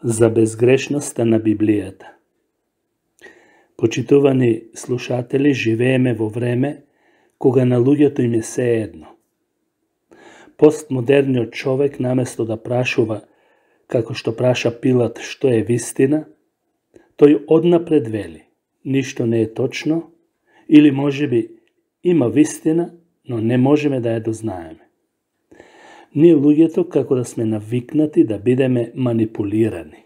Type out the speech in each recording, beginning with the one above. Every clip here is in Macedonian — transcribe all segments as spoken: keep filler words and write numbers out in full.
за безгрешноста на Библијата. Почитувани слушатели, живееме во време кога на луѓето им е сеедно. Постмодерниот човек, наместо да прашува, како што праша Пилат, што е вистина, тој однапред вели, ништо не е точно, или можеби има вистина, но не можеме да ја дознаеме. Ние луѓето како да сме навикнати да бидеме манипулирани.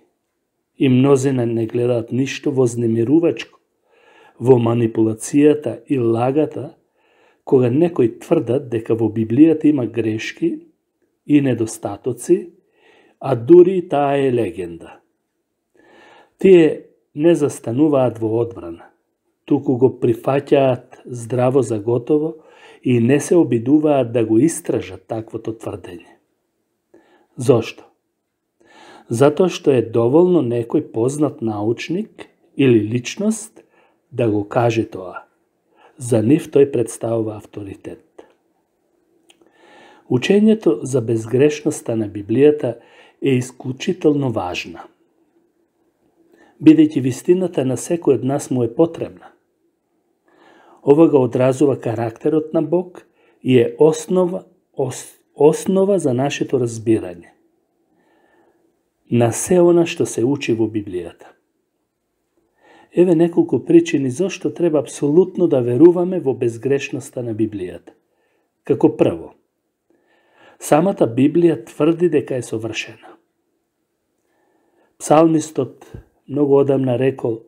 И мнозина не гледаат ништо вознемирувачко во манипулацијата и лагата, кога некои тврдат дека во Библијата има грешки и недостатоци, а дури и таа е легенда. Тие не застануваат во одбрана, туку го прифаќаат здраво за готово и не се обидуваат да го истражат таквото тврдење. Зошто? Затоа што е доволно некој познат научник или личност да го каже тоа. За нив тој представува авторитет. Учењето за безгрешноста на Библијата е исклучително важна, бидејќи вистината на секој од нас му е потребна. Ова го одразува карактерот на Бог и е основа, ос, основа за нашето разбирање на се она што се учи во Библијата. Еве неколку причини зошто треба апсолутно да веруваме во безгрешноста на Библијата. Како прво, самата Библија тврди дека е совршена. Псалмистот многу одамна рекол: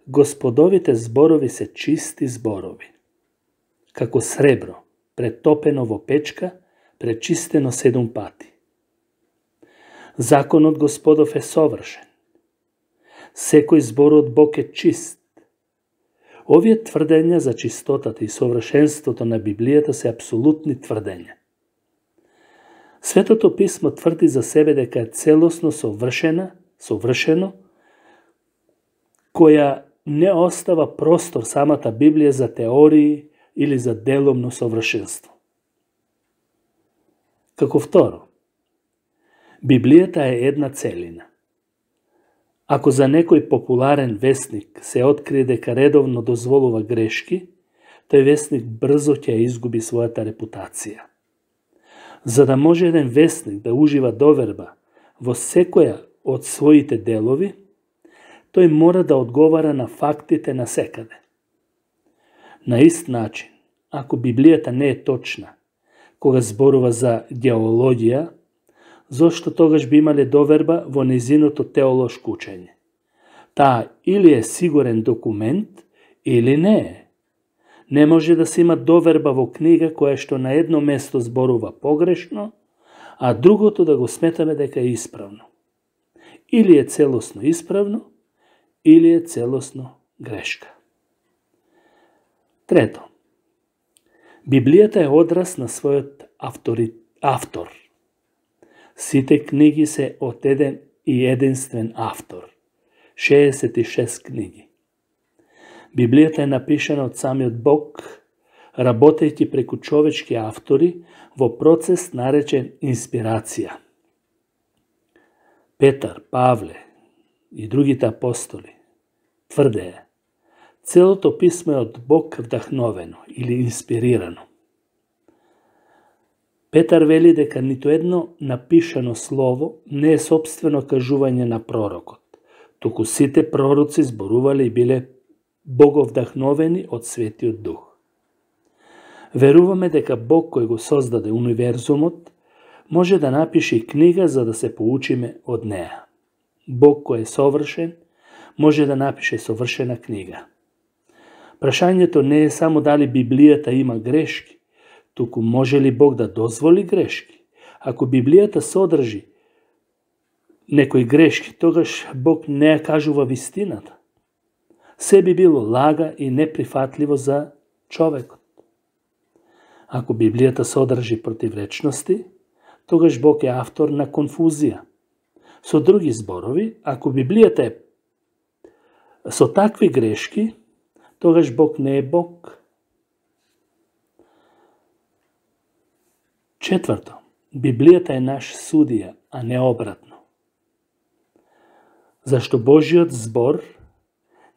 Господовите зборови се чисти зборови, како сребро, претопено во печка, пречистено седум пати. Законот Господов е совршен. Секој збор од Бог е чист. Овие тврдења за чистотата и совршенството на Библијата се апсолутни тврдења. Светото писмо тврди за себе дека е целосно совршена, совршено, која не остава простор самата Библија за теории или за деломно совршенство. Како второ, Библијата е една целина. Ако за некој популарен весник се открие дека редовно дозволува грешки, тој весник брзо ќе изгуби својата репутација. За да може еден весник да ужива доверба во секоја од своите делови, тој мора да одговара на фактите насекаде. На ист начин, ако Библијата не е точна, кога зборува за геологија, зошто тогаш би имале доверба во незиното теолошко учење? Таа или е сигурен документ, или не е. Не може да се има доверба во книга која што на едно место зборува погрешно, а другото да го сметаме дека е исправно. Или е целосно исправно, или е целосно грешка. Трето, Библијата е одраз на својот автори, автор. Сите книги се од еден и единствен автор. шеесет и шест книги. Библијата е напишана од самиот Бог, работејќи преку човечки автори во процес наречен инспирација. Петар, Павле и другите апостоли тврдеа: целото писмо е од Бог вдахновено или инспирирано. Петар вели дека ниту едно напишано слово не е сопствено кажување на пророкот, туку сите пророци зборувале и биле боговдахновени од Светиот Дух. Веруваме дека Бог кој го создаде универзумот може да напише и книга за да се поучиме од неа. Бог кој е совршен може да напише совршена книга. Прашањето не е само дали Библијата има грешки, туку може ли Бог да дозволи грешки? Ако Библијата содржи некои грешки, тогаш Бог не ја кажува вистината. Се би било лага и неприфатливо за човекот. Ако Библијата содржи противречности, тогаш Бог е автор на конфузија. Со други зборови, ако Библијата е со такви грешки, тогаш Бог не е Бог. Четврто, Библијата е наш судија, а не обратно. Зашто Божиот збор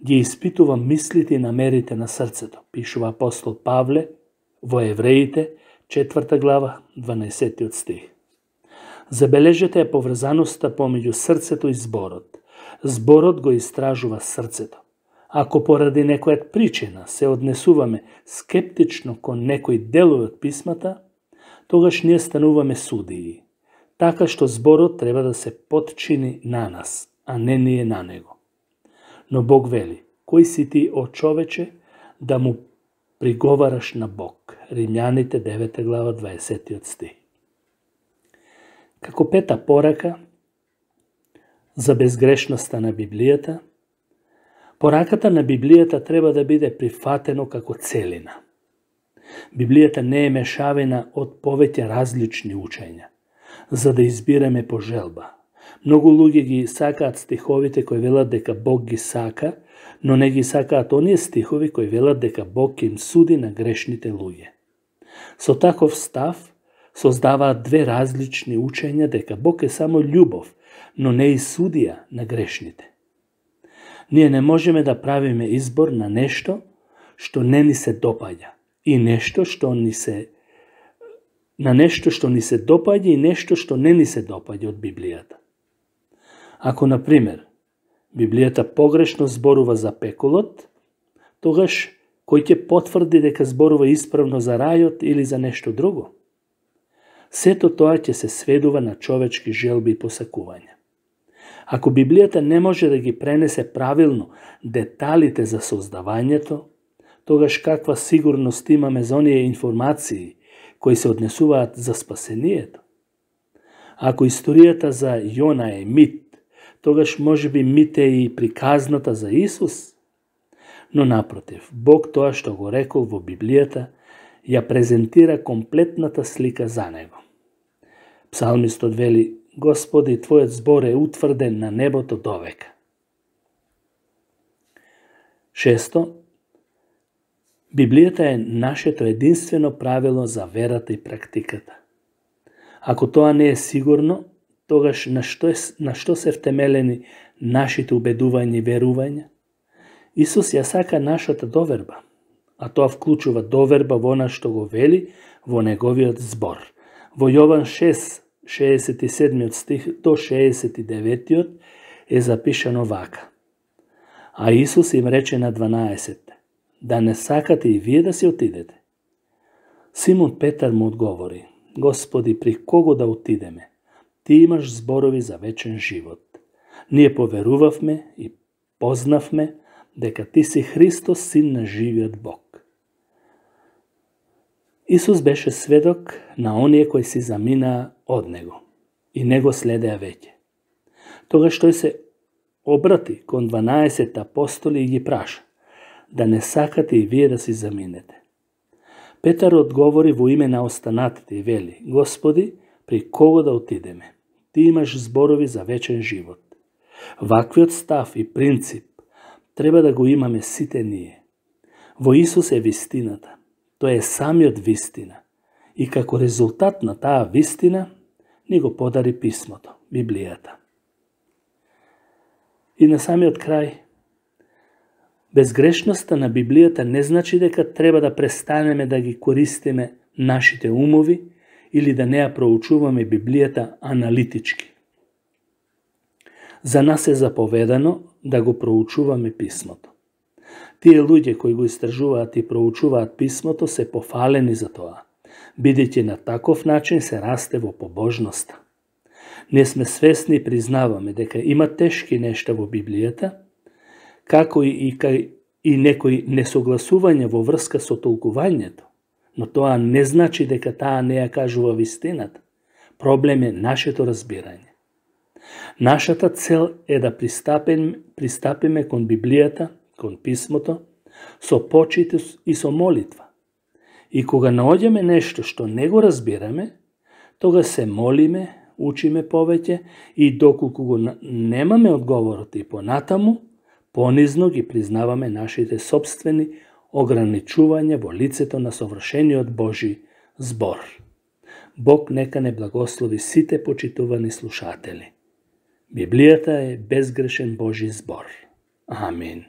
ги испитува мислите и намерите на срцето, пишува апостол Павле во Евреите, четврта глава, дванаесеттиот стих. Забележете ја поврзаноста помеѓу срцето и зборот. Зборот го истражува срцето. Ако поради некоја причина се однесуваме скептично кон некој делови од писмата, тогаш ние стануваме судии, така што зборот треба да се потчини на нас, а не ние на него. Но Бог вели, кој си ти, о човече, да му приговараш на Бог? Римјаните девета глава, дваесеттиот стих. Како пета порака за безгрешноста на Библијата, пораката на Библијата треба да биде прифатено како целина. Библијата не е мешавина од повеќе различни учења, за да избираме по желба. Многу луѓе ги сакаат стиховите кои велат дека Бог ги сака, но не ги сакаат оние стихови кои велат дека Бог им суди на грешните луѓе. Со таков став создаваат две различни учења дека Бог е само љубов, но не и судија на грешните. Ние не можеме да правиме избор на нешто што не ни се допаѓа и нешто што ни се на нешто што ни се допаѓа и нешто што не ни се допаѓа од Библијата. Ако, на пример, Библијата погрешно зборува за пеколот, тогаш кој ќе потврди дека зборува исправно за рајот или за нешто друго? Сето тоа ќе се сведува на човечки желби и посакувања. Ако Библијата не може да ги пренесе правилно деталите за создавањето, тогаш каква сигурност имаме за оние информации кои се однесуваат за спасението? Ако историјата за Јона е мит, тогаш може би мит е и приказната за Исус? Но напротив, Бог тоа што го рекол во Библијата ја презентира комплетната слика за него. Псалмистот вели: Господи, Твојот збор е утврден на небото довека. Шесто, Библијата е нашето единствено правило за верата и практиката. Ако тоа не е сигурно, тогаш на што, е, на што се втемелени нашите убедувања и верувања? Исус ја сака нашата доверба, а тоа вклучува доверба во она што го вели во неговиот збор. Во Јован шест, шеесет и седми стих до шеесет и девети е запишано вака. А Исус им рече на дванаесет: да не сакате и вие да си отидете? Симон Петар му одговори: Господи, при кого да отидеме? Ти имаш зборови за вечен живот. Ние поверувавме и познавме дека Ти си Христос, Син на живиот Бог. Исус беше сведок на оние кои си заминаа од Него и не го следеа веќе. Тогаш тој се обрати кон дванаесет апостоли и ги праша: да не сакате и вие да си заминете. Петар одговори во име на останатите и вели: Господи, при кого да отидеме? Ти имаш зборови за вечен живот. Ваквиот став и принцип треба да го имаме сите ние. Во Исус е вистината. Тој е самиот вистина. И како резултат на таа вистина ни го подари писмото, Библијата. И на самиот крај, безгрешноста на Библијата не значи дека треба да престанеме да ги користиме нашите умови или да не ја проучуваме Библијата аналитички. За нас е заповедано да го проучуваме писмото. Тие луѓе кои го истражуваат и проучуваат писмото се пофалени за тоа, бидејќи на таков начин се расте во побожноста. Ние сме свесни и признаваме дека има тешки нешта во Библијата, како и, и, и некои несогласувања во врска со толкувањето, но тоа не значи дека таа не ја кажува вистината. Проблем е нашето разбирање. Нашата цел е да пристапиме, пристапиме кон Библијата, кон писмото, со почит и со молитва. И кога наоѓаме нешто што не го разбираме, тога се молиме, учиме повеќе и доколку го немаме одговорот и понатаму, понизно ги признаваме нашите собствени ограничувања во лицето на совршениот Божи збор. Бог нека не благослови сите почитувани слушатели. Библијата е безгрешен Божи збор. Амин.